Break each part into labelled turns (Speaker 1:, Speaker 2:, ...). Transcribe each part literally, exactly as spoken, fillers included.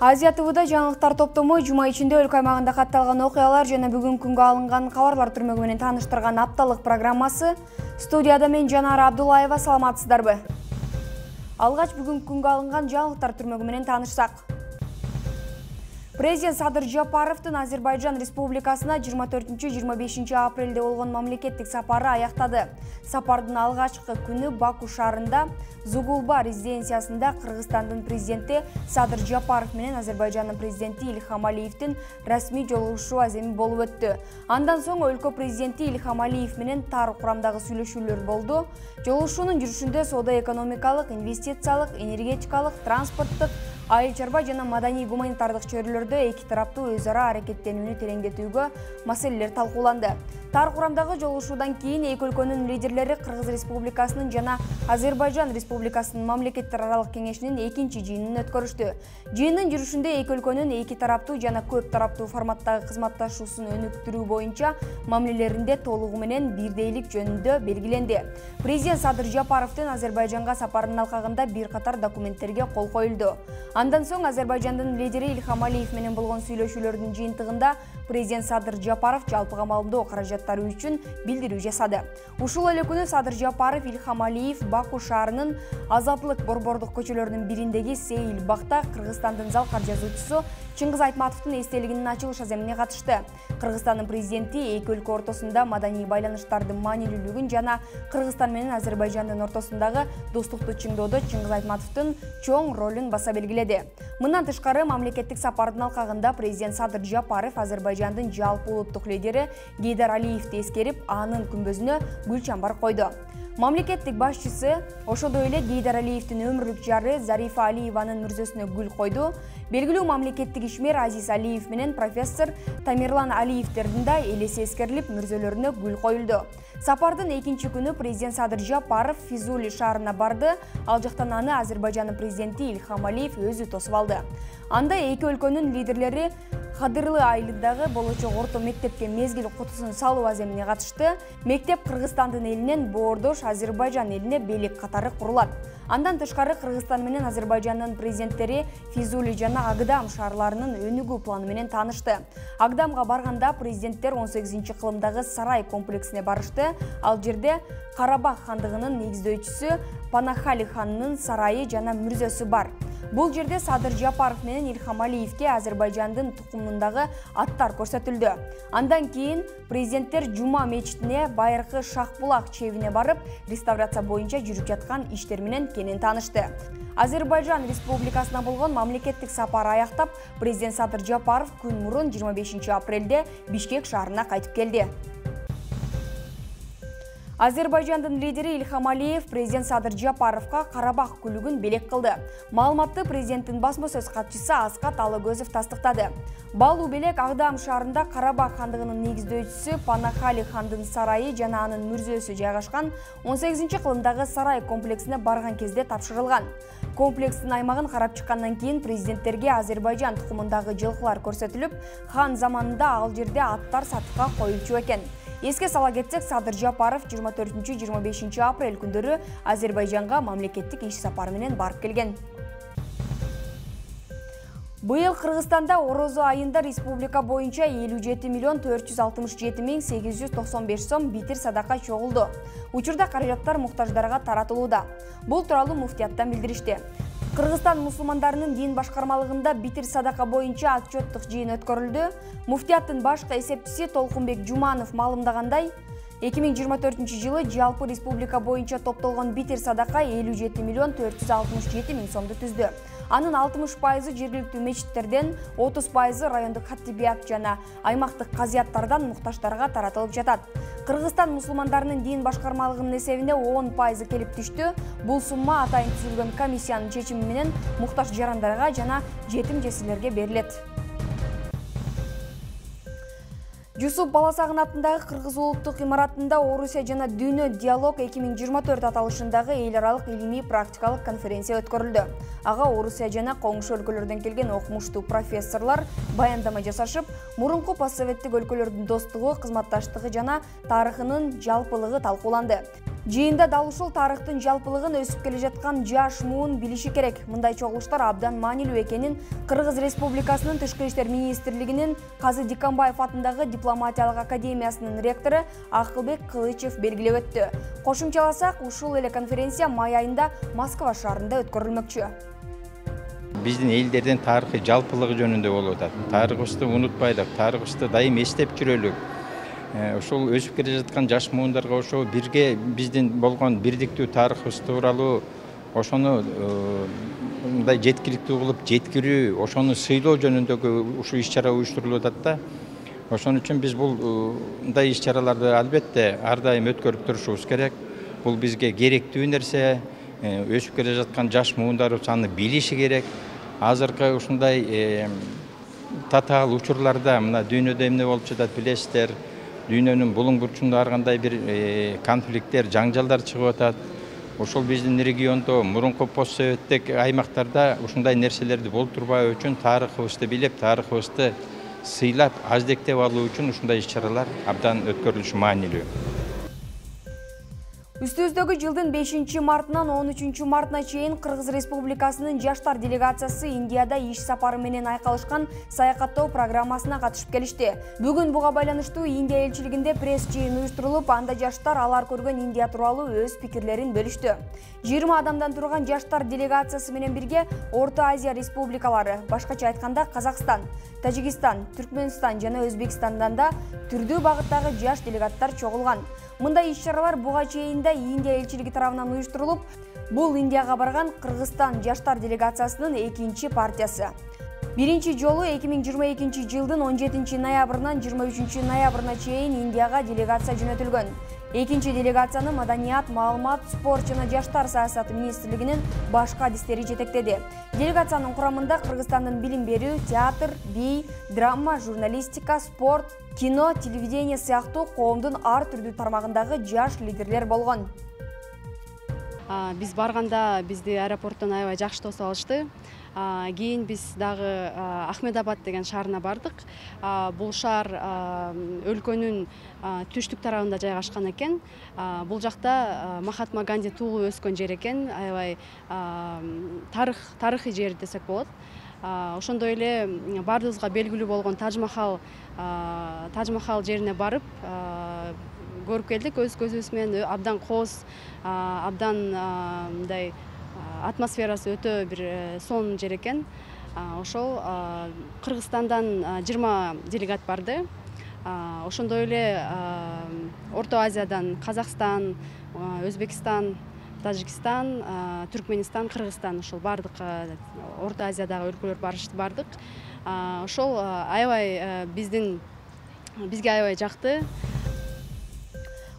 Speaker 1: Азия ТВда жаңылыктар топтому жума ичинде өлкө аймагында катталган окуялар жана бүгүнкү күнгө алынган кабарлар түрмөгү менен тааныштырган апталык программасы. Студияда мен Жанара Абдуллаева, саламатсыздарбы? Алгач бүгүнкү күнгө алынган жаңылыктар түрмөгү менен таанышсак. Президент Садыр Жапаровдун Азербайжан Республикасына жыйырма төртүнчү — жыйырма бешинчи апрелде болгон мамлекеттик сапары аяктады. Сапардын алгачкы күнү Баку шаарында Зугулба резиденциясында Кыргызстандын президенти Садыр Жапаров менен Азербайжандын президенти Ильхам Алиевдин расмий жолугушуу аземи болуп өттү. Андан соң өлкө президенти Ильхам Алиев менен тар курамдагы сүйлөшүүлөр болду. Жолугушуунун жүрүшүндө соода-экономикалык, инвестициялык, энергетикалык, транспорттук, айыл чарба жана маданий гуманитардык чөйрөлөрдө эки тараптуу өз ара аракеттенүүнү тереңдетүүгө маселелер талкууланды. Тар курамдагы жолугушуудан кийин эки өлкөнүн лидерлери Кыргыз Республикасынын жана Азербайжан Республикасынын мамлекеттер аралык кеңешинин экинчи жыйынын өткөрүштү. Жыйындын жүрүшүндө эки өлкөнүн эки тараптуу жана көп тараптуу форматтагы кызматташуусун өнүктүрүү боюнча мамилелеринде толугу менен бирдейлик жөнүндө белгиленди. Президент Садыр Жапаровдун Азербайжанга сапарынын алкагында бир катар документтерге кол коюлду. Андан соң Азербайжандын лидери Ильхам Алиев менен болгон сүйлөшүүлөрдүн жыйынтыгында президент Садыр Жапаров жалпы камалдоо каражаттары үчүн билдирүү жасады. Ушул эле күнү Садыр Жапаров Ильхам Алиев Баку шаарынын Азаттык борбордук көчөлөрүнүн бириндеги Сейил бакта Кыргызстандын залкар жазуучусу Чыңгыз Айтматовдун эстелигинин ачылыш аземине катышты. Кыргызстандын президенти эки өлкө ортосунда маданий байланыштардын маанилүүлүгүн жана Кыргызстан менен Азербайжандын ортосундагы достукту чыңдоодо Чыңгыз Айтматовдун чоң ролун баса белгиледи. Мындан тышкары мамлекеттик сапардын алкагында президент Садыр Жапаров Азербайжандын жалпы улуттук лидери Гейдар Алиевди эскерип, анын күмбөзүнө гүл чамбар койду. Мамлекеттик башчысы ошондой эле Гейдар Алиевдин өмүрлүк жары Зарифа Алиеванын мүрзөсүнө гүл койду. Белгилүү мамлекеттик ишмер Азиз Алиев менен профессор Тамерлан Алиевдердин да элеси эскерилип, мүрзөлөрүнө гүл коюлду. Сапардын экинчи күнү президент Садыр Жапаров Физули шаарына барды. Ал жактан аны Азербайжандын президенти Ильхам Алиев өзү тосуп алды. Анда эки өлкөнүн лидерлери Кадырлы айылындагы болочок орто мектепке мезгил кутусун салуу аземине катышты. Мектеп Кыргызстандын элинен боордош Азербайжан элине белек катары курулат. Андан тышкары Кыргызстан менен Азербайжандын президенттери Физули жана Агдам шаарларынын өнүгүү планы менен таанышты. Агдамга барганда президенттер он сегизинчи кылымдагы сарай комплексине барышты. Ал жерде Карабах хандыгынын негиздөөчүсү Панахали ханынын сарайы жана мүрзөсү бар. Бул жерде Садыр Жапаров менен Ильхам Алиевге Азербайжандын тукумундагы аттар көрсөтүлдү. Андан кийин президенттер Жума мечитине, байыркы Шахбулак чебине барып, реставрация боюнча жүрүп жаткан иштер менен кенен таанышты. Азербайжан Республикасына болгон мамлекеттик сапар аяктап, президент Садыр Жапаров күн мурун жыйырма бешинчи апрелде Бишкек шаарына кайтып келди. Азербайжандын лидери Ильхам Алиев президент Садыр Жапаровга Карабах күлүгүн белек кылды. Маалыматты президенттин басма сөз катчысы Аскат Алыгөзов тастыктады. Балуу белек Агдам шаарында Карабах хандыгынын негиздөөчүсү Панахали хандын сарайы жана анын мүрзөсү жайгашкан он сегизинчи кылымдагы сарай комплексине барган кезде тапшырылган. Комплекстин аймагын карап чыккандан кийин президенттерге Азербайжан тукумундагы жылкылар көрсөтүлүп, хан заманында ал жерде аттар сатыкка коюлчу экен. Эске сала кетсек, Садыр Жапаров жыйырма төртүнчү — жыйырма бешинчи апрель күндөрү Азербайжанга мамлекеттик иш сапары менен барып келген. Быйыл Кыргызстанда орозо айында республика боюнча элүү жети миллион төрт жүз алтымыш жети миң сегиз жүз токсон беш сом битир садака чогулду. Учурда каражаттар муктаждарга таратылууда. Бул тууралуу муфтияттан билдиришти. Кыргызстан мусулмандарынын дин башкармалыгында битир садака боюнча отчеттук жыйын өткөрүлдү. Муфтияттын башкы эсепчиси Толкунбек Жуманов маалымдагандай, эки миң жыйырма төртүнчү жылы жалпы республика боюнча топтолгон битир садака элүү жети миллион төрт жүз алтымыш жети миң сомду түздү. Анын алтымыш пайызы жергиликтүү мечиттерден, отуз пайызы райондук хаттибият жана аймактык казыяттардан муктаждарга таратылып жатат. Кыргызстан мусулмандарынын дин башкармалыгынын эсебине он пайызы келип түштү. Бул сумма атайын түзүлгөн комиссиянын чечими менен муктаж жарандарга жана жетим жесирлерге берилет. Жусуп Баласагын атындагы Кыргыз улуттук имаратында Орусия жана Дүйнө диалог эки миң жыйырма төрт аталышындагы эл аралык илимий практикалык конференция өткөрүлдү. Ага Орусия жана коңшу өлкөлөрдөн келген окумуштуу профессорлор баяндама жасашып, мурунку постсоветтик өлкөлөрдүн достугу, кызматташтыгы жана тарыхынын жалпылыгы талкууланды. Жыйында дал ушул тарыхтын жалпылыгын өсүп келе жаткан жаш муун билиши керек. Мындай чогулуштар абдан маанилүү экенин Кыргыз Республикасынын Тышкы иштер министрлигинин Казы Диканбаев атындагы дипломатиялык академиясынын ректору Акылбек Кылычев белгилеп өттү. Кошумчаласак, ушул эле конференция май айында Москва шаарында өткөрүлмөкчү.
Speaker 2: Биздин элдердин тарыхый жалпылыгы жөнүндө болуп атат. Тарыхыбызды унутпайлык, тарыхыбызды дайым эстеп жүрөлүк. Ошол өсүп келе жаткан жаш муундарга ошо бирге биздин болгон бирдиктүү тарыхыбыз тууралуу ошону мындай жеткиликтүү кылып жеткирүү, ошону сыйлоо жөнүндөгү ушул иш-чара уюштурулуп атат да. Ошон үчүн биз бул мындай иш-чараларды албетте ар дайым өткөрүп турушубуз керек. Бул бизге керектүү нерсе. Өсүп келе жаткан жаш муундарыбыз аны билиши керек. Азыркы ушундай татаал учурларда мына дүйнөдө эмне болуп жатат билесиздер. Дүйнөнүн булуң бурчунда ар кандай бир конфликттер, жаңжалдар чыгып атат. Ошол биздин региондо мурунку постсоветтик аймактарда ушундай нерселерди болтурбай үчүн тарыхыбызды билип, тарыхыбызды сыйлап, аздектеп алуу үчүн ушундай иш-чаралар абдан өткөрүлүшү маанилүү.
Speaker 1: Үстүбүздөгү жылдын бешинчи мартынан он үчүнчү мартына чейин Кыргыз Республикасынын жаштар делегациясы Индияда иш сапары менен айкалышкан саякаттоо программасына катышып келишти. Бүгүн буга байланыштуу Индия элчилигинде пресс жыйын уюштурулуп, анда жаштар алар көргөн Индия тууралуу өз пикирлерин бөлүштү. жыйырма адамдан турган жаштар делегациясы менен бирге Орто Азия республикалары, башкача айтканда Казакстан, Тажикстан, Түркмөнстан жана Өзбекстандан да түрдүү багыттагы жаш делегаттар чогулган. Мындай иш-чаралар буга чейин Индия элчилиги тарабынан уюштурулуп, бул Индияга барган Кыргызстан жаштар делегациясынын экинчи партиясы. Биринчи жолу эки миң жыйырма экинчи жылдын он жетинчи ноябрынан жыйырма үчүнчү ноябрына чейин Индияга делегация жөнөтүлгөн. Экинчи делегацияны Маданият, маалымат, спорт жана жаштар саясаты министрлигинин башкы адистери жетектеди. Делегациянын курамында Кыргызстандын билим берүү, театр, бий, драма, журналистика, спорт, кино, телевидение сыяктуу коомдун ар түрдүү тармагындагы жаш лидерлер болгон.
Speaker 3: Биз барганда бизди аэропорттон аябай жакшы тосуп алышты. Кийин биз дагы Ахмедабад деген шаарына бардык. Бул шаар өлкөнүн түштүк тарабында жайгашкан экен. Бул жакта Махатма Ганди туулуп өскөн жер экен. Аябай тарых тарыхый жер десек болот. Ошондой эле бардыгыбызга белгилүү болгон Тажмахал Тажмахал жерине барып көрүп келдик өз көзүбүз менен. Абдан кооз, абдан мындай атмосферасы өтө бир сонун жер экен. Ошол Кыргызстандан жыйырма делегат барды. Ошондой эле Орто Азиядан Казакстан, Өзбекстан, Тажикстан, Түркмөнстан, Кыргызстан ошол бардык Орто Азиядагы өлкөлөр бардык. Ошол аябай биздин бизге аябай жакты.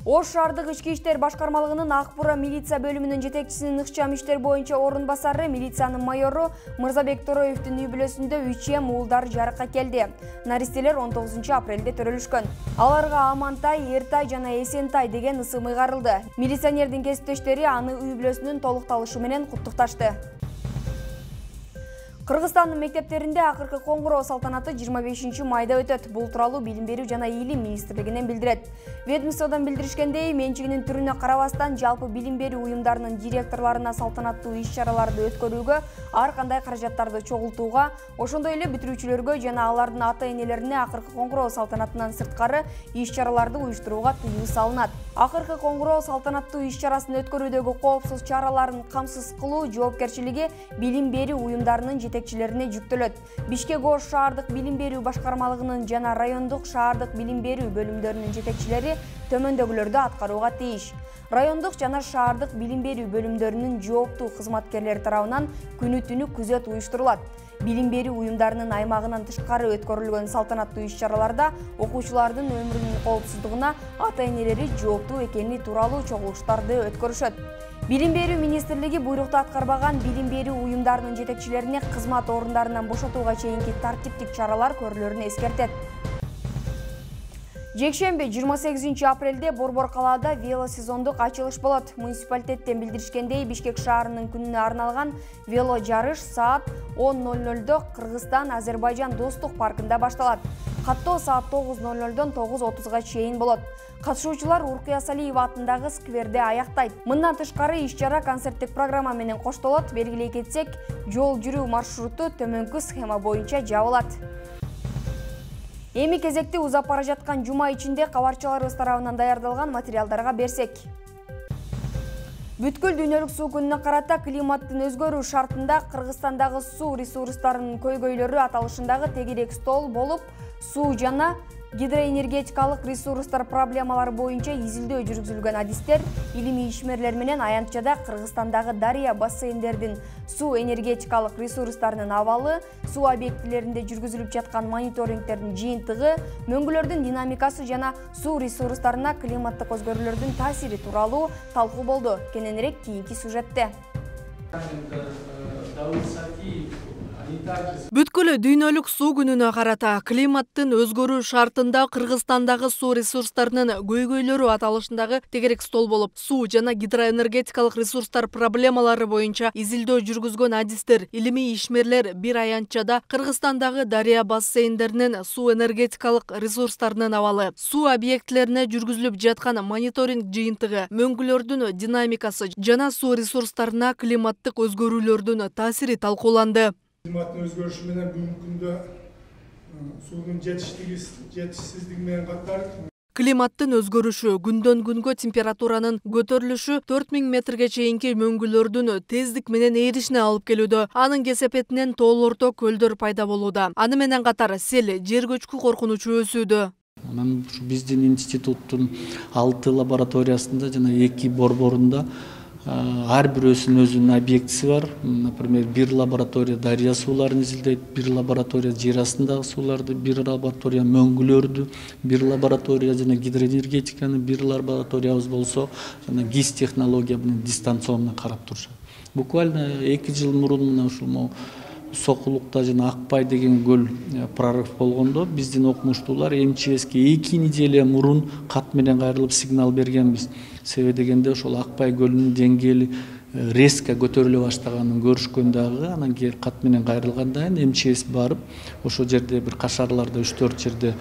Speaker 1: Ош шаардык ички иштер башкармалыгынын Акбура милиция бөлүмүнүн жетекчисинин ыкчам иштер боюнча орун басары, милициянын майору Мырзабек Тороевдин үй бүлөсүндө үч эм уулдар жарыкка келди. Наристелер он тогузунчу апрелде төрөлүшкөн. Аларга Амантай, Эртай жана Эсентай деген ысым ыйгарылды. Милиционердин кесиптештери аны үй бүлөсүнүн толукталышы менен куттукташты. Кыргызстандын мектептеринде акыркы коңгуроо салтанаты жыйырма бешинчи майда өтөт. Бул тууралуу Билим берүү жана Илим министрлигинен билдирет. Ведомстводон билдиришкендей, менчигинин түрүнө карабастан жалпы билим берүү уюмдарынын директорлоруна салтанаттуу иш-чараларды өткөрүүгө, ар кандай каражаттарды чогултууга, ошондой эле бүтүрүүчүлөргө жана алардын ата-энелерине акыркы коңгуроо салтанатынан сырткары иш-чараларды уюштурууга тыюу салынат. Акыркы коңгуроо салтанаттуу иш-чарасын өткөрүүдөгү коопсуз чараларын камсыз кылуу жоопкерчилиги билим берүү уюмдарынын жетекчилерине жүктөлөт. Бишкек Ош шаардык билим берүү башкармалыгынын жана райондук шаардык билим берүү бөлүмдөрүнүн жетекчилери төмөндөгүлөрдү аткарууга тийиш. Райондук жана шаардык билим берүү бөлүмдөрүнүн жооптуу кызматкерлери тарабынан күнү-түнү күзөт уюштурулат. Билим берүү уюмдарынын аймагынан тышкары өткөрүлгөн салтанаттуу иш-чараларда окуучулардын өмүрүнүн коопсуздугуна ата-энелери жооптуу экени тууралуу чогулуштарды өткөрүшөт. Билим берүү министрлиги буйрукту аткарбаган билим берүү уюмдарынын жетекчилерине кызмат орундарынан бошотууга чейинки тартиптик чаралар көрүлөрүн эскертет. Жекшемби жыйырма сегизинчи апрелде Борбор калаада велосезондук ачылыш болот. Муниципалитеттен билдиришкендей, Бишкек шаарынын күнүнө арналган вело жарыш саат он ноль нольдо Кыргызстан-Азербайжан достук паркында башталат. Каттоо саат тогуз ноль нольдон тогуз отузга чейин болот. Катышуучулар Уркуя Салиева атындагы скверде аяктайт. Мындан тышкары иш-чара концерттик программа менен коштолот. Белгилей кетсек, жол жүрүү маршруту төмөнкү схема боюнча жабылат. Эми кезекти узап бара жаткан жума ичинде кабарчыларыбыз тарабынан даярдалган материалдарга берсек. Бүткүл дүйнөлүк суу күнүнө карата климаттын өзгөрүү шартында Кыргызстандагы суу ресурстарынын көйгөйлөрү аталышындагы тегерек стол болуп, суу жана гидроэнергетикалык ресурстар проблемалары боюнча изилдөө жүргүзүлгөн адистер, илимий ишмерлер менен аянтчада Кыргызстандагы дарыя бассейндердин суу энергетикалык ресурстарынын абалы, суу объектилеринде жүргүзүлүп жаткан мониторингтердин жыйынтыгы, мөңгүлөрдүн динамикасы жана суу ресурстарына климаттык өзгөрүүлөрдүн таасири тууралуу талкуу болду. Кененирээк кийинки сюжетте.
Speaker 4: Бүткүл дүйнөлүк суу күнүнө карата климаттын өзгөрүү шартында Кыргызстандагы суу ресурстарынын көйгөйлөрү аталышындагы тегерек стол болуп, суу жана гидроэнергетикалык ресурстар проблемалары боюнча изилдөө жүргүзгөн адистер, илимий ишмерлер бир аянтчада Кыргызстандагы дарыя бассейндеринин суу энергетикалык ресурстарынын абалы, суу объектилерине жүргүзүлүп жаткан мониторинг жыйынтыгы, мөңгүлөрдүн динамикасы жана суу ресурстарына климаттык өзгөрүүлөрдүн таасири талкууланды.
Speaker 5: Климаттын өзгөрүшү менен бүгүнкү күндө суунун жетишсиздиги менен катар
Speaker 4: климаттын өзгөрүшү, күндөн күнгө температуранын көтөрүлүшү төрт миң метрге чейинки мөңгүлөрдүн тездик менен ээришине алып келүүдө. Анын кесепетинен тоол орто көлдөр пайда болууда. Аны менен катар сел, жер көчкү коркунучу өсүүдө.
Speaker 6: Анан биздин институттун алты лабораториясында жана эки борборунда ар бирөөсүнүн өзүнүн объектиси бар. Например, бир лаборатория дарыя сууларын изилдейт, бир лаборатория жер астындагы сууларды, бир лаборатория мөңгүлөрдү, бир лаборатория жана гидроэнергетиканы, бир лабораториябыз болсо жана гис технология менен дистанционно карап турушат. Буквально эки жыл мурун мына ушул Сокулукта жана Акбай деген көл прорыв болгондо биздин окумуштуулар МЧСке эки неделя мурун кат менен кайрылып сигнал бергенбиз. Себеби дегенде ошол Акбай көлүнүн деңгээли резко көтөрүлө баштаганын көрүшкөн дагы, анан кийин кат менен кайрылгандан кийин МЧС барып, ошол жерде бир кашарларда үч төрт жерде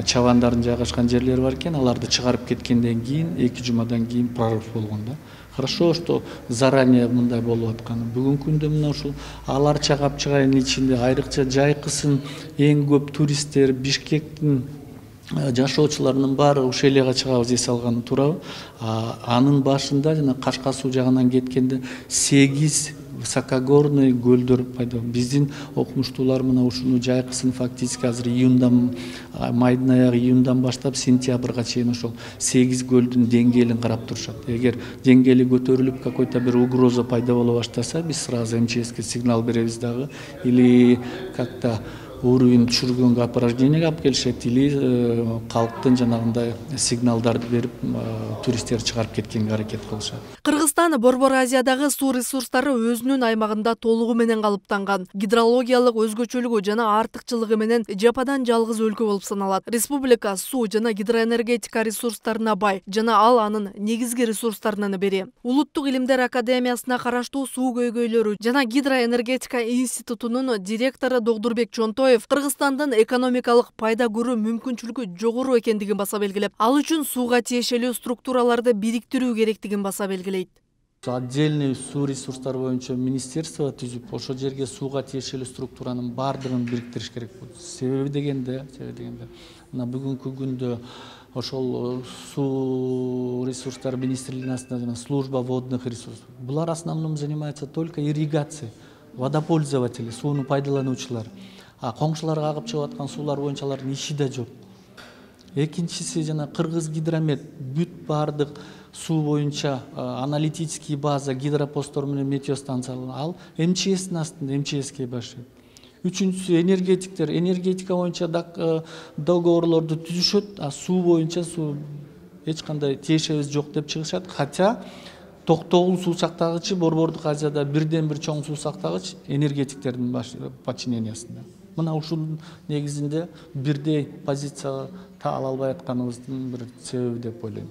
Speaker 6: чабандардын жайгашкан жерлери бар экен, аларды чыгарып кеткенден кийин эки жумадан кийин прорыв болгон да. Хорошо, что заранее мындай болуп атканы. Бүгүнкү күндө мына ушул Аларча Капчыгайдын ичинде айрыкча жайкысын эң көп туристтер, Бишкектин жашоочуларынын баары Ушелияга чыгабыз эс алганы туурабы. Анын башында жана Кашка суу жагынан кеткенде сегиз высокогорный көлдөр пайда болду. Биздин окумуштуулар мына ушуну жайкысын фактически азыр июндан, майдын аягы июндан баштап сентябрга чейин ошол сегиз көлдүн деңгээлин карап турушат. Эгер деңгээли көтөрүлүп какой-то бир угроза пайда боло баштаса, биз сразу МЧСке сигнал беребиз дагы, или как-то уровень түшүргөнгө опорожнениеге алып келишет, или калктын жанагындай сигналдарды берип туристтерди чыгарып кеткенге аракет кылышат.
Speaker 4: Кыргызстан Борбор Азиядагы суу ресурстары өзүнүн аймагында толугу менен калыптанган, гидрологиялык өзгөчөлүгү жана артыкчылыгы менен жападан жалгыз өлкө болуп саналат. Республика суу жана гидроэнергетика ресурстарына бай жана ал анын негизги ресурстарынын бири. Улуттук илимдер академиясына караштуу суу көйгөйлөрү жана гидроэнергетика институтунун директору Догдурбек Чонтоев Кыргызстандын экономикалык пайда көрүү мүмкүнчүлүгү жогору экендигин баса белгилеп, ал үчүн сууга тиешелүү структураларды бириктирүү керектигин баса белгилейт.
Speaker 6: Отдельный суу ресурстары боюнча министерство түзүп, ошол жерге сууга тиешелүү структуранын баардыгын бириктириш керек болот. Себеби дегенде, себеби дегенде, мына бүгүнкү күндө ошол суу ресурстары министрлигинин астында жана служба водных ресурсов. Булар основном занимаются только ирригацией, водопользователи, сууну пайдалануучулар. А коңшуларга агып чыгып аткан суулар боюнча алардын иши да жок. Экинчиси жана Кыргыз гидромет бүт баардык суу боюнча аналитический база, гидропосттор менен метеостанциялар ал МЧСтин астында, МЧСке башыйт. Үчүнчүсү энергетиктер, энергетика боюнча договорлорду түзүшөт, а суу боюнча суу эч кандай тиешебиз жок деп чыгышат. Хотя Токтогул суу сактагычы Борбордук Азияда бирден бир чоң суу сактагыч энергетиктердин подчинениясында. Мына ушунун негизинде бирдей позиция ала албай атканыбыздын бир себеби деп ойлойм.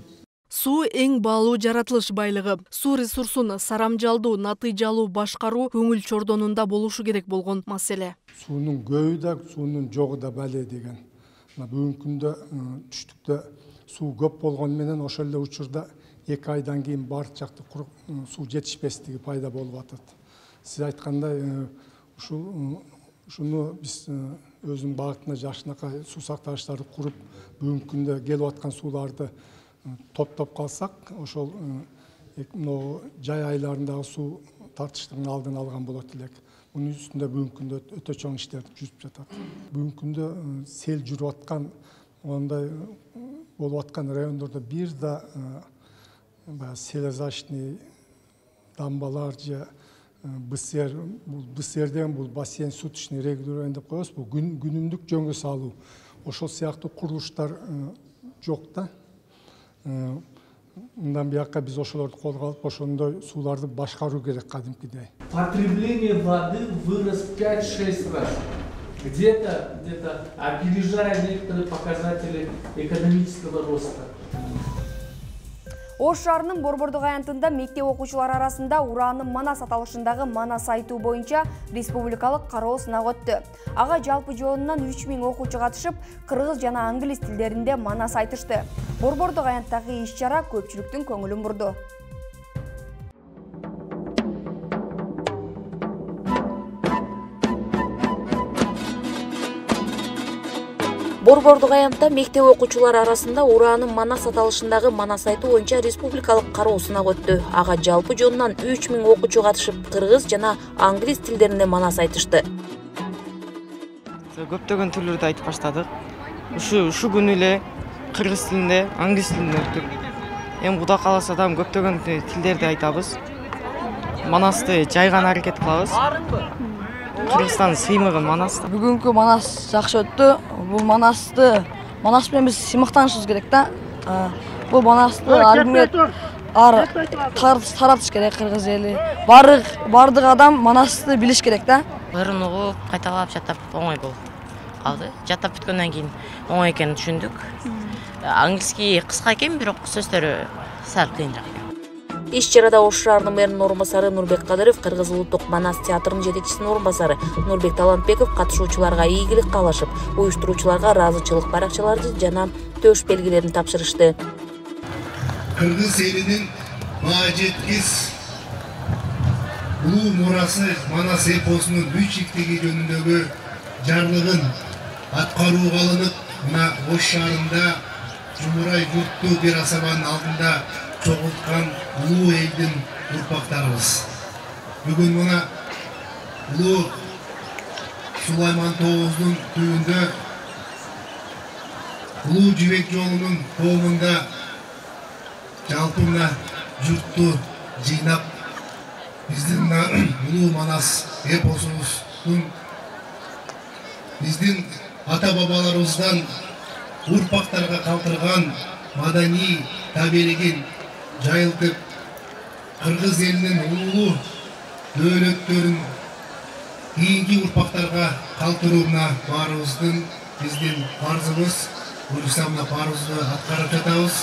Speaker 4: Суу эң баалуу жаратылыш байлыгы. Суу ресурсун сарамжалдуу, натыйжалуу башкаруу көңүл чордонунда болушу керек болгон маселе.
Speaker 5: Суунун көбү да, суунун жогу да бале деген. Бүгүнкү күндө түштүктө суу көп болгону менен ошол эле учурда эки айдан кийин баардык жакта суу жетишпестиги пайда болуп атат. Сиз айткандай ушул ушуну биз өзүнүн багытына жакшынакай суу сактагычтарды куруп, бүгүнкү күндө келип аткан сууларды топтоп калсак, ошол жай айларындагы суу тартыштыгын алдын алган болот элек. Мунун үстүндө бүгүнкү күндө өтө чоң иштер жүрүп жатат. Бүгүнкү күндө сел жүрүп аткан, ондай болуп аткан райондордо бир да баягы селезачный дамбалар же БСР, бул БСР деген бул бассейн суточный регулирование деп коебуз, бул күнүмдүк жөнгө салуу. Ошол сыяктуу курулуштар жок да. Мындан бияка биз ошолорду колго алып, ошондой сууларды башкаруу керек кадимкидей.
Speaker 7: Потребление воды вырос пять-шесть раз. Где-то, где-то опережая некоторые показатели экономического роста.
Speaker 1: Ош шаарынын Борбордук аянтында мектеп окуучулары арасында ураанын Манас аталышындагы Манас айтуу боюнча республикалык кароо сынак өттү. Ага жалпы жоонунан үч миң окуучу катышып, кыргыз жана англис тилдеринде Манас айтышты. Борбордук аянттагы иш-чара көпчүлүктүн көңүлүн бурду.
Speaker 8: Борбордук аянтта мектеп окуучулары арасында ураанын Манас аталышындагы Манас айтуу боюнча республикалык кароо сынак өттү. Ага жалпы жоонунан үч миң окуучу катышып, кыргыз жана англис тилдеринде Манас айтышты.
Speaker 9: Көптөгөн түрлөрдү айтып баштадык. Ушу ушу күнү эле кыргыз тилинде, англис тилинде өттүк. Эми Кудай кааласа дагы көптөгөн тилдерди айтабыз. Манасты жайган аракет кылабыз. Кыргызстандын сыймыгы Манас.
Speaker 10: Бүгүнкү Манас жакшы өттү. Бул Манасты, Манас менен биз сыймыктанышыбыз керек да. Бул Манасты армия ар таратыш керек кыргыз эли. Бардык бардык адам Манасты билиш керек да.
Speaker 11: Барын угуп, кайталап жаттап оңой болуп калды. Жаттап бүткөндөн кийин оңой экенин түшүндүк. Англиский кыска экен, бирок сөздөрү сал кыйынраак.
Speaker 8: Иш-чарада Ош шаарынын мэринин орун басары Нурбек Кадыров, Кыргыз улуттук Манас театрынын жетекчисинин орун басары Нурбек Талантбеков катышуучуларга ийгилик каалашып, уюштуруучуларга ыраазычылык баракчаларды жана төш белгилерин тапшырышты.
Speaker 12: Кыргыз элинин баа жеткис улуу мурасы Манас эпосунун үч иктиги жөнүндөгү жарлыгын аткарууга алынып, мына Ош шаарында Жумурай журтту бир асабанын алдында чогулткан улуу элдин урпактарыбыз. Бүгүн мына улуу Сулайман Тоғуздун түбүндө улуу жибек жолунун коомунда жалпы мына журтту жыйнап биздин улуу Манас эпосубуздун биздин ата бабаларыбыздан урпактарга калтырган маданий табелигин жайылтып, кыргыз элинин улуу дөөлөттөрүн кийинки урпактарга калтырууна баарыбыздын биздин парзыбыз. Буюрса мына парыбызды аткарып жатабыз.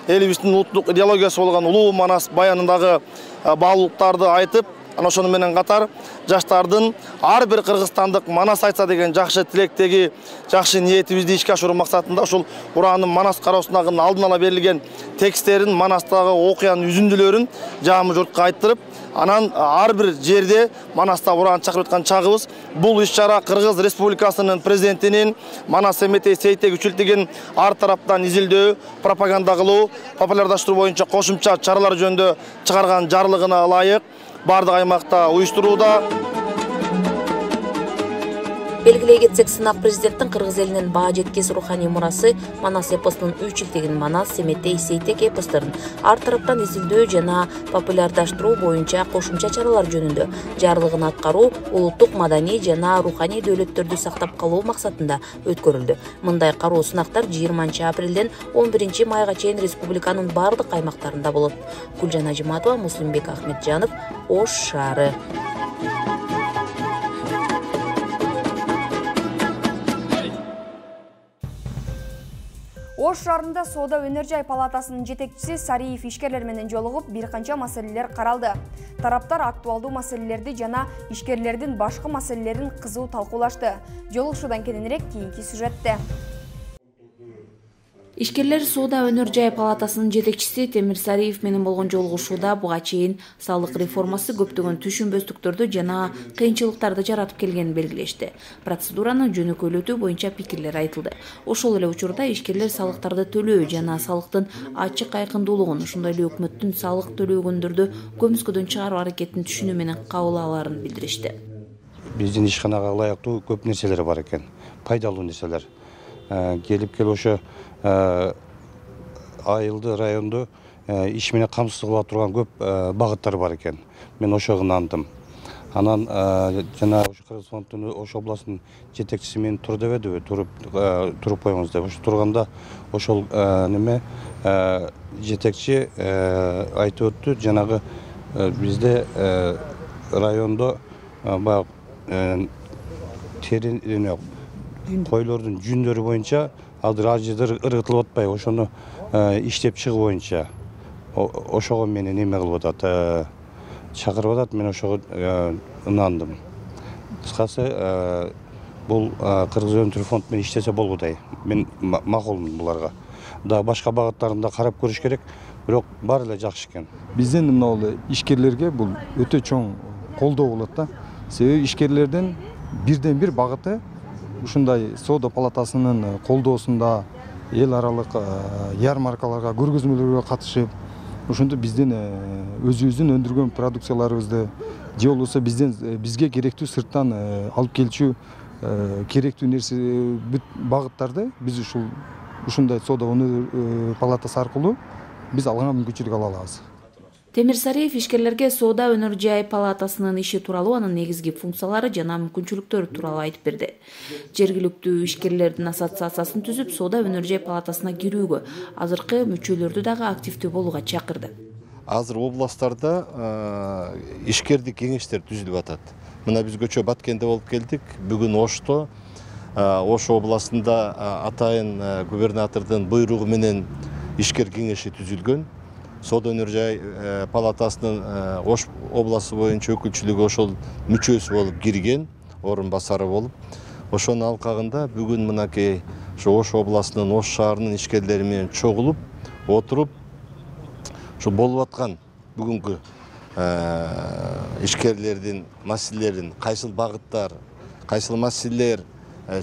Speaker 13: Элибиздин улуттук идеологиясы болгон улуу Манас баянындагы баалуулуктарды айтып, ana ошону менен катар жаштардын ар бир кыргызстандык Манас айтса деген жакшы тилектеги, жакшы ниетибизди ишке ашыруу максатында ошол ураанын Манас кароо сынагынын алдын ала берилген тексттерин, Манастагы окуянын үзүндүлөрүн жаамы журтка айттырып, анан ар бир жерде Манаста ураан чакырып аткан чагыбыз. Бул иш-чара Кыргыз Республикасынын президентинин Манас Семетей Сейтек үчүлтүгүн ар тараптан изилдөө, пропаганда кылуу, популярдаштыруу боюнча кошумча чаралар жөнүндө чыгарган жарлыгына ылайык бардык аймакта уюштурууда.
Speaker 8: Белгилей кетсек, сынак президенттин кыргыз элинин баа жеткис руханий мурасы Манас эпосунун үч иктигин Манас, Семетей, Сейтек эпосторун ар тараптан изилдөө жана популярдаштыруу боюнча кошумча чаралар жөнүндө жарлыгын аткаруу, улуттук маданий жана руханий дөөлөттөрдү сактап калуу максатында өткөрүлдү. Мындай кароо сынактар жыйырманчы апрелден он биринчи майга чейин республиканын бардык аймактарында болот. Гүлжан Ажыматова, Муслимбек Ахметжанов, Ош шаары.
Speaker 1: Ош шаарында Соода өнөр жай палатасынын жетекчиси Сариев ишкерлер менен жолугуп, бир канча маселелер каралды. Тараптар актуалдуу маселелерди жана ишкерлердин башка маселелерин кызуу талкуулашты. Жолугушуудан кененирээк кийинки сюжетте.
Speaker 8: Ишкерлер Соода өнөр жай палатасынын жетекчиси Темир Сариев менен болгон жолугушууда буга чейин салык реформасы көптөгөн түшүнбөстүктөрдү жана кыйынчылыктарды жаратып келгенин белгилешти. Процедураны жөнөкөйлөтүү боюнча пикирлер айтылды. Ошол эле учурда ишкерлер салыктарды төлөө жана салыктын ачык айкындуулугун, ошондой эле өкмөттүн салык төлөгөндөрдү көмүскөдөн чыгаруу аракетин түшүнүү менен кабыл алаарын билдиришти.
Speaker 14: Биздин ишканага ылайыктуу көп нерселер бар экен, пайдалуу нерселер. Келип келип ошо айылды районду иш менен камсыз кыла турган көп багыттар бар экен. Мен ошого ынандым. Анан жана ошо Кыргыз фондунун Ош областынын жетекчиси мени тур дебедиби, туруп туруп коюңуз деп. Ошо турганда ошол неме жетекчи айтып өттү, жанагы бизде райондо баягы терин койлордун жүндөрү боюнча азыр аз жердер ыргытылып атпайбы, ошону иштеп чыгуу боюнча ошого мени неме кылып атат, чакырып атат. Мен ошого ынандым. Кыскасы бул Кыргыз өнөр фонд менен иштесе болгудай. Мен макулмун буларга. Да башка багыттарында карап көрүш керек, бирок баары эле жакшы экен.
Speaker 15: Биздин мына ишкерлерге бул өтө чоң колдоо болот да. Себеби ишкерлердин бирден бир багыты ушундай Соода палатасынын колдоосунда эл аралык ярмаркаларга, көргөзмөлөргө катышып, ошондо биздин өзүбүздүн өндүргөн продукцияларыбызды же болбосо бизден бизге керектүү сырттан алып келчү керектүү нерсе бүт багыттарды биз ушул ушундай Соода өнөр палатасы аркылуу биз алганга мүмкүнчүлүк ала алабыз.
Speaker 8: Темир Сариев ишкерлерге Соода өнөр жай палатасынын иши тууралуу, анын негизги функциялары жана мүмкүнчүлүктөрү тууралуу айтып берди. Жергиликтүү ишкерлердин ассоциациясын түзүп, Соода өнөр жай палатасына кирүүгө, азыркы мүчөлөрдү дагы активдүү болууга чакырды.
Speaker 16: Азыр областтарда ишкердик кеңештер түзүлүп атат. Мына биз көчө Баткенде болуп келдик. Бүгүн Ошто, Ош областында атайын губернатордун буйругу менен ишкер кеңеши түзүлгөн. Соода өнөр жай палатасынын Ош областы боюнча өкүлчүлүгү ошол мүчөсү болуп кирген, орун басары болуп. Ошонун алкагында бүгүн мынакей ошо Ош областынын Ош шаарынын ишкерлери менен чогулуп, отуруп, ошо болуп аткан бүгүнкү ишкерлердин маселелерин, кайсыл багыттар, кайсыл маселелер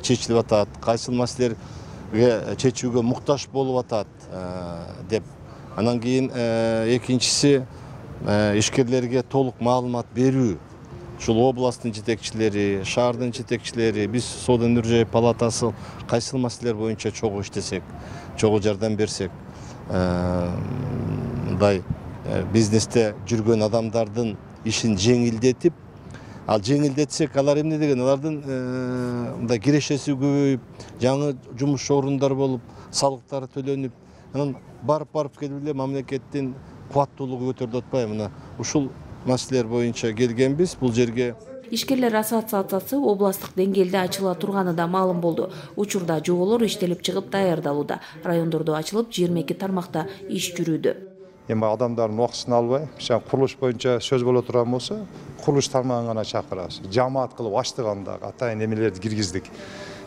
Speaker 16: чечилип атат, кайсыл маселелерге чечүүгө муктаж болуп атат деп. Анан кийин экинчиси ишкерлерге толук маалымат берүү. Ушул областтын жетекчилери, шаардын жетекчилери, биз Соода өнөр жай палатасы кайсыл маселелер боюнча чогуу иштесек, чогуу жардам берсек, мындай бизнесте жүргөн адамдардын ишин жеңилдетип, ал жеңилдетсек, алар эмне деген, алардын мындай кирешеси көбөйүп, жаңы жумуш орундар болуп, салыктары төлөнүп, анан барып-барып келип эле мамлекеттин кубаттуулугу көтөрүлүп атпайбы? Мына ушул маселелер боюнча келгенбиз. Бул жерге
Speaker 8: Ишкерлер ассоциациясы областтык деңгээлде ачыла турганы да маалым болду. Учурда жоболор иштелип чыгып даярдалууда. Райондордо ачылып жыйырма эки тармакта иш жүрүүдө.
Speaker 17: Эми адамдардын убактысын албай, курулуш боюнча сөз боло турган болсо, курулуш тармагын гана чакырабыз. Жамаат кылып ачтык, анда атайын эмелерди киргиздик.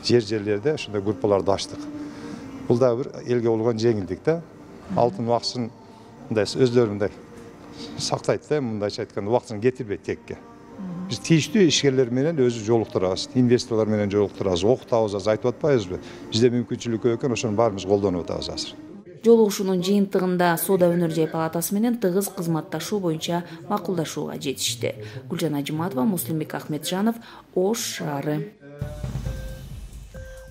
Speaker 17: Жер-жерлерде ошондой группаларды ачтык. Бул да бир элге болгон жеңилдик да. Алтын убактысын мындай өздөрү мындай сактайт да, мындайча айтканда убактысын кетирбейт текке. Биз тийиштүү ишкерлер менен өзү жолуктурабыз, инвесторлор менен жолуктурабыз, окутабыз, азыр айтып атпайбызбы? Бизде мүмкүнчүлүк көп экен, ошону баарыбыз колдонуп атабыз азыр.
Speaker 8: Жолугушуунун жыйынтыгында Соода өнөр жай палатасы менен тыгыз кызматташуу боюнча макулдашууга жетишти. Гүлжан Ажыматова, Муслимбек Ахметжанов, Ош шаары.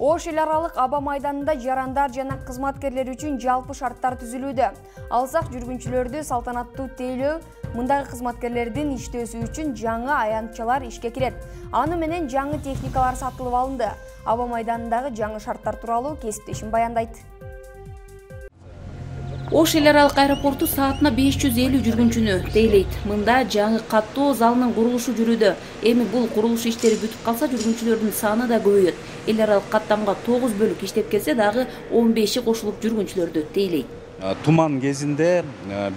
Speaker 1: Ош эл аралык аба майданында жарандар жана кызматкерлер үчүн жалпы шарттар түзүлүүдө. Алсак жүргүнчүлөрдү салтанаттуу тейлөө, мындагы кызматкерлердин иштөөсү үчүн жаңы аянтчалар ишке кирет. Аны менен жаңы техникалар сатылып алынды. Аба майданындагы жаңы шарттар тууралуу кесиптешим баяндайт.
Speaker 18: Ош эл аралык аэропорту саатына беш жүз элүү жүргүнчүнү тейлейт. Мында жаңы каттоо залынын курулушу жүрүүдө. Эми бул курулуш иштери бүтүп калса, жүргүнчүлөрдүн саны да көбөйөт. Эл аралык каттамга тогуз бөлүк иштеп келсе, дагы он беши кошулуп жүргүнчүлөрдү тейлейт.
Speaker 19: Туман кезинде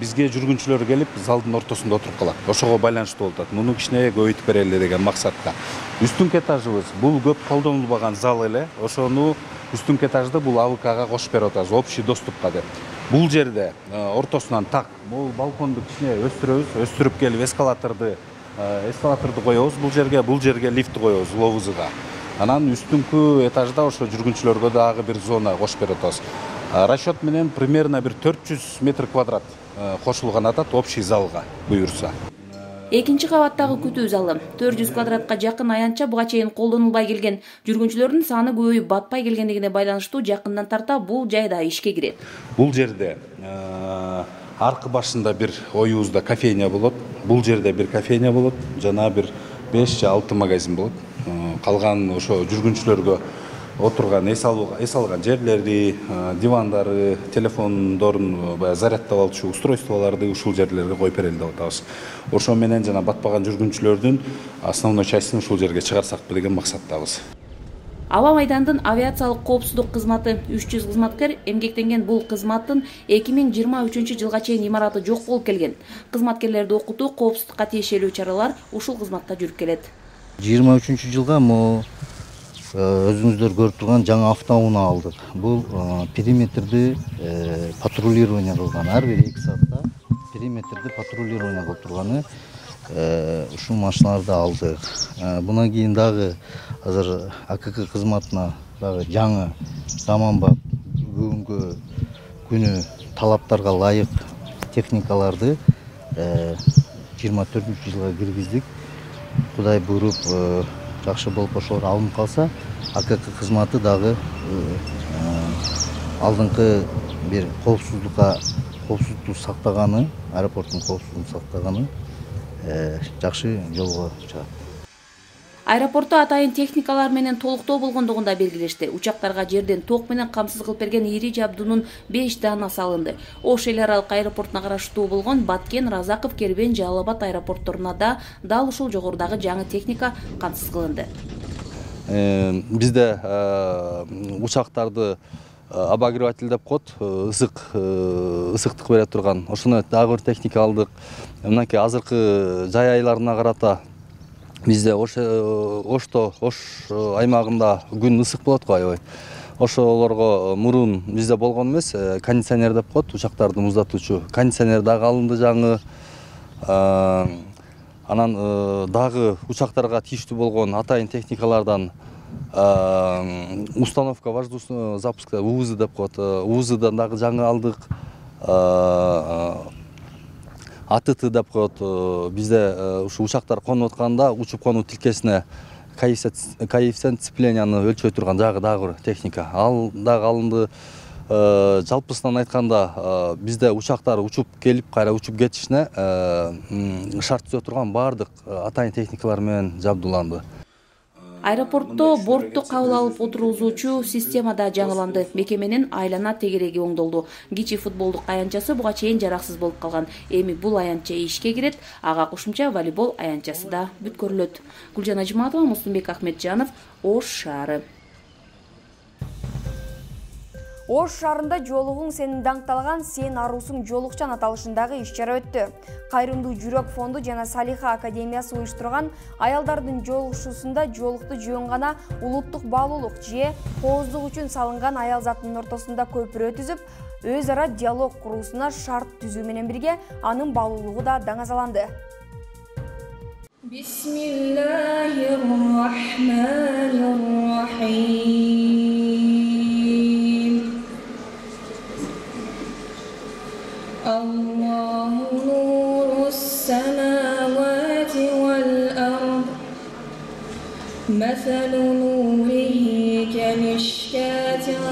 Speaker 19: бизге жүргүнчүлөр келип залдын ортосунда отуруп калат. Ошого байланыштуу болуп атат. Муну кичине көбөйтүп берели деген максатта. Үстүнкү этажыбыз бул көп колдонулбаган зал эле. Ошону үстүнкү этажды бул А В Кга кошуп берип атабыз, общий доступка деп. Бул жерде ортосунан так бул балконду кичине өстүрөбүз, өстүрүп келип эскалаторду эскалаторду коебуз бул жерге, бул жерге лифт коебуз ловузуга. Анан үстүнкү этажда ошо жүргүнчүлөргө дагы бир зона кошуп берип атабыз. Расчет менен примерно бир төрт жүз метр квадрат кошулган атат общий залга буюрса.
Speaker 18: Экинчи кабаттагы күтүү залы төрт жүз квадратка жакын аянтча буга чейин колдонулбай келген. Жүргүнчүлөрдүн саны көбөйүп батпай келгендигине байланыштуу жакындан тарта бул жайда ишке кирет.
Speaker 19: Бул жерде аркы башында бир оюбузда кофейня болот. Бул жерде бир кофейня болот, жана бир беш же алты магазин болот. Калган ошо жүргүнчүлөргө отурган эс алган жерлери, дивандары, телефондорун заряддап алчу устройстволорду ушул жерлерге коюп берели деп атабыз. Ошо менен жана батпаган жүргүнчүлөрдүн основной частын ушул жерге чыгарсакпы деген максаттабыз.
Speaker 18: Аба майдандын авиациялык коопсуздук кызматы үч жүз кызматкер эмгектенген. Бул кызматтын эки миң жыйырма үчүнчү жылга чейин имараты жок болуп келген. Кызматкерлерди окутуу, коопсуздукка тиешелүү чаралар ушул кызматта жүрүп келет.
Speaker 20: жыйырма үчүнчү жылга мо өзүңүздөр көрүп турган жаңы автоунаа алдык. Бул периметрди патрулирование кылган, ар бир эки саатта периметрди патрулирование кылып турганы ушул машиналарды алдык. Бунан кийин дагы азыр А К К кызматына дагы жаңы заманбап бүгүнкү күнү талаптарга ылайык техникаларды жыйырма төртүнчү жылга киргиздик. Кудай буйруп жакшы болуп ошолор алынып калса, А К К кызматы дагы алдыңкы бир коопсуздукка коопсуздукту сактаганы, аэропорттун коопсуздугун сактаганы жакшы жолго чыгат.
Speaker 18: Аэропортто атайын техникалар менен толуктоо болгондугун да белгилешти. Учактарга жерден ток менен камсыз кылып берген ири жабдуунун беш даана салынды. Ош эл аралык аэропортуна караштуу болгон Баткен, Разаков, Кербен, Жалал Абад аэропортторуна да дал ушул жогорудагы жаңы техника камсыз кылынды.
Speaker 21: Бизде учактарды обогреватель деп коет, ысык ысыктык бере турган. Ошону дагы бир техника алдык. Мынакей азыркы жай айларына карата бизде Ошто, Ош аймагында күн ысык болот го аябай. Ошолорго мурун бизде болгон эмес, кондиционер деп коет, учактарды муздатуучу. Кондиционер дагы алынды жаңы. Анан дагы учактарга тийиштүү болгон атайын техникалардан установка воздушного запуска У В З деп коет. У В Здан дагы жаңы алдык. А Т Т деп коет. Бизде ушу учактар конуп атканда учуп конуу тилкесине коэффициент сцепленияны өлчөй турган жагы дагы бир техника. Ал дагы алынды. Жалпысынан айтканда бизде учактар учуп келип кайра учуп кетишине шарт түзө турган баардык атайын техникалар менен жабдууланды.
Speaker 18: Аэропортто бортту кабыл алып отургузуучу система да жаңыланды. Мекеменин айлана тегереги оңдолду. Кичи футболдук аянтчасы буга чейин жараксыз болуп калган. Эми бул аянтча ишке кирет, ага кошумча волейбол аянтчасы да бүткөрүлөт. Гүлжан Ажматова, Муслимбек Ахметжанов, Ош шаары.
Speaker 1: Ош шаарында жолугуң сенин даңкталган сен аруусуң жолукчан аталышындагы иш-чара өттү. Кайрымдуу жүрөк фонду жана Салиха академиясы уюштурган аялдардын жолугушуусунда жолукту жөн гана улуттук баалуулук же кооздук үчүн салынган аял затынын ортосунда көпүрө түзүп, өз ара диалог куруусуна шарт түзүү менен бирге анын баалуулугу да даңазаланды.
Speaker 22: Бисмиллахир-рахманир-рахим. Аллаху нурус самавати вал ард. Масалу нурихи камишкатин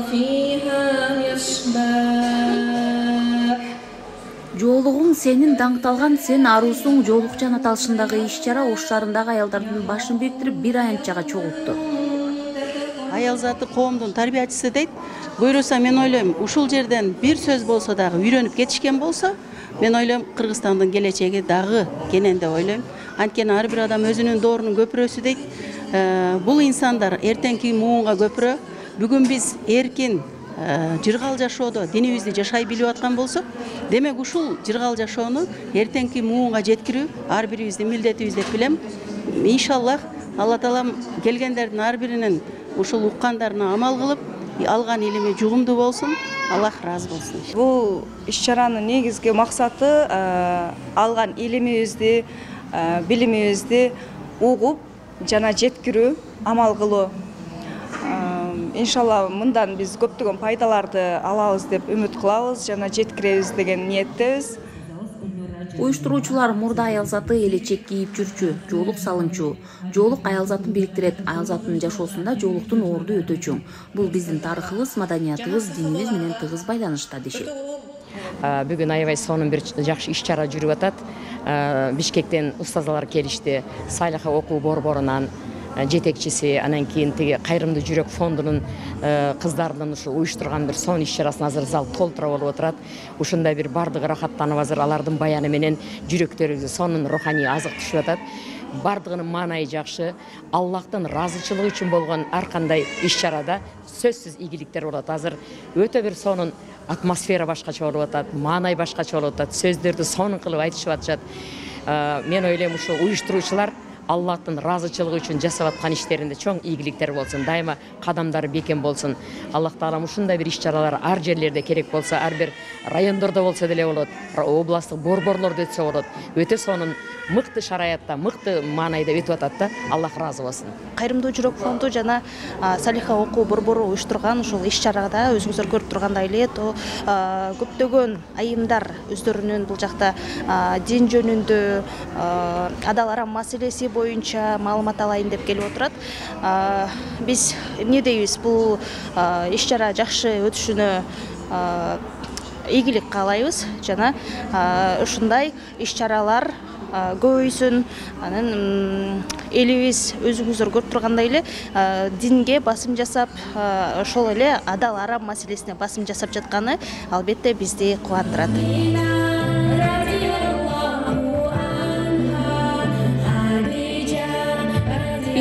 Speaker 22: фиха мисбах.
Speaker 18: Жолугуң сенин даңкталган сен аруусуң жолукчан аталышындагы иш-чара Ош шаарындагы аялдардын башын бириктирип бир аянтчага чогултту.
Speaker 2: аял заты коомдун тарбиячысы дейт. Буюрса мен ойлойм, ушул жерден бир сөз болсо дагы үйрөнүп кетишкен болсо, мен ойлойм Кыргызстандын келечеги дагы кенен деп ойлойм. Анткени ар бир адам өзүнүн доорунун көпүрөсү дейт. Бул инсандар эртеңки муунга көпүрө. Бүгүн биз эркин жыргал жашоодо динибизди жашай билип аткан болсок, демек ушул жыргал жашоону эртеңки муунга жеткирүү ар бирибиздин милдетибиз деп билем. Иншаллах Алла Таалам келгендердин ар биринин ушул уккандарына амал кылып, алган илими жугумдуу болсун. Аллах разы болсун.
Speaker 3: Бул иш-чаранын негизги максаты алган илимибизди, билимибизди угуп жана жеткирүү, амал кылуу. Иншалла мындан биз көптөгөн пайдаларды алабыз деп үмүт кылабыз жана жеткиребиз деген ниеттебиз.
Speaker 18: Уюштуруучулар мурда аял заты элечек кийип жүрчү, жоолук салынчу. Жоолук аял затын бириктирет, аял затынын жашоосунда жоолуктун орду өтө чоң. Бул биздин тарыхыбыз, маданиятыбыз, динибиз менен тыгыз байланышта дешет.
Speaker 23: Бүгүн аябай сонун бир жакшы иш-чара жүрүп атат. Бишкектен устазалар келишти, Салиха окуу борборунан жетекчиси, анан кийин тиги Кайрымдуу жүрөк фондунун кыздарынын ушул уюштурган бир сонун иш-чарасын азыр зал толтура болуп отурат. Ушундай бир бардыгы рахаттанып азыр алардын баяны менен жүрөктөрүбүзгө сонун руханий азык түшүп атат. Бардыгынын маанайы жакшы. Аллахтын ыраазычылыгы үчүн болгон ар кандай иш-чарада сөзсүз ийгиликтер болот. Азыр өтө бир сонун атмосфера башкача болуп атат, маанай башкача болуп атат, сөздөрдү сонун кылып айтышып атышат. Мен ойлойм, ушул уюштуруучулар Аллахтын ыраазычылыгы үчүн жасап аткан иштеринде чоң ийгиликтер болсун, дайыма кадамдары бекем болсун. Аллах Таалам ушундай бир иш-чаралар ар жерлерде керек болсо, ар бир райондордо болсо деле болот, областтык борборлордо өтсө болот. Өтө сонун мыкты шараятта, мыкты маанайда өтүп атат да. Аллах ыраазы болсун.
Speaker 24: Кайрымдуу жүрөк фонду жана Салиха окуу борбору уюштурган ушул иш-чарада өзүңүздөр көрүп тургандай эле көптөгөн айымдар өздөрүнүн бул жакта дин жөнүндө, адал арам маселеси боюнча маалымат алайын деп келип отурат. Биз эмне дейбиз, бул иш-чара жакшы өтүшүнө ийгилик каалайбыз жана ушундай иш-чаралар көбөйсүн. Анан элибиз өзүңүздөр көрүп тургандай эле динге басым жасап, ошол эле адал арам маселесине басым жасап жатканы албетте бизди кубандырат.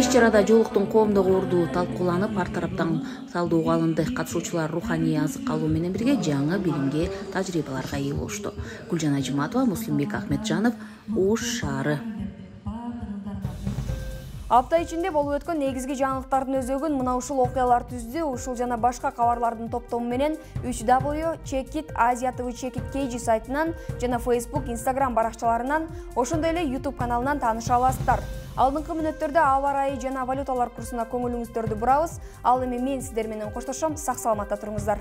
Speaker 18: Иш-чарада жоолуктун коомдогу орду талкууланып, ар тараптан талдоого алынды. Катышуучулар руханий азык алуу менен бирге жаңы билимге, тажрыйбаларга ээ болушту. Гүлжан Ажиматова, Муслимбек Ахметжанов, Ош шаары.
Speaker 1: Апта ичинде болуп өткөн негизги жаңылыктардын өзөгүн мына ушул окуялар түздү. Ушул жана башка кабарлардын топтому менен үч дабл ю чек ит азия тэ вэ чек ит кей джи сайтынан жана Facebook, Instagram баракчаларынан, ошондой эле YouTube каналынан тааныша аласыздар. Алдыңкы мүнөттөрдө аба ырайы жана валюталар курсуна көңүлүңүздөрдү бурабыз. Ал эми мен сиздер менен коштошом. Сак саламатта туруңуздар.